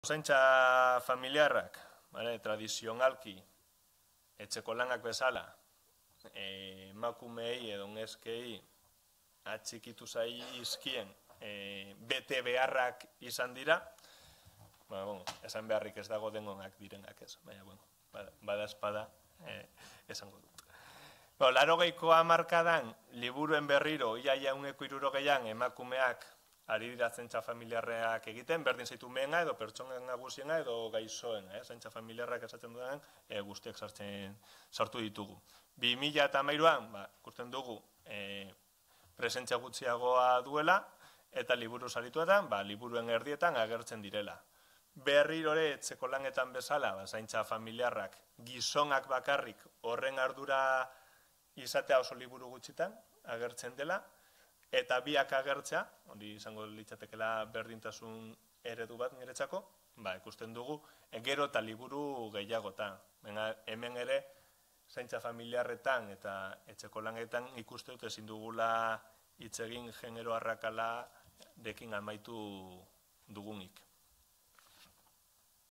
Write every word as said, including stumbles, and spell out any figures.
Zaintza familiarrak, tradizionalki, etxeko lanak bezala, emakumeei edo neskei atxikitu zaizkien bete beharrak izan dira, esan beharrik ez dago dengonak direnak ez, baina bada espada esango dut. Larogeiko hamarkadan, liburuen berriro, ia jauneko hirurogeian emakumeak ari dira zaintza familiarrak egiten, berdin zaitu mehena edo pertsonen nagusiena edo gaizoena, zaintza familiarrak esaten duenan guztiak sartu ditugu. bi mila hamairuan, ikusten dugu, presentzia gutxiagoa duela, eta liburu sarituetan, liburuen erdietan agertzen direla. Berrirore etxeko lanetan bezala, zaintza familiarrak gizonak bakarrik horren ardura izatea oso liburu gutxitan agertzen dela, eta biak agertzea, hori izango litzatekela berdintasun eredu bat niretzako, ikusten dugu, gero eta liburu gehiagotan. Hemen ere, zaintza familiarretan eta etxeko lanetan ikuste dut ezin dugula hitz egin genero arrakala dekin amaitu dugunik.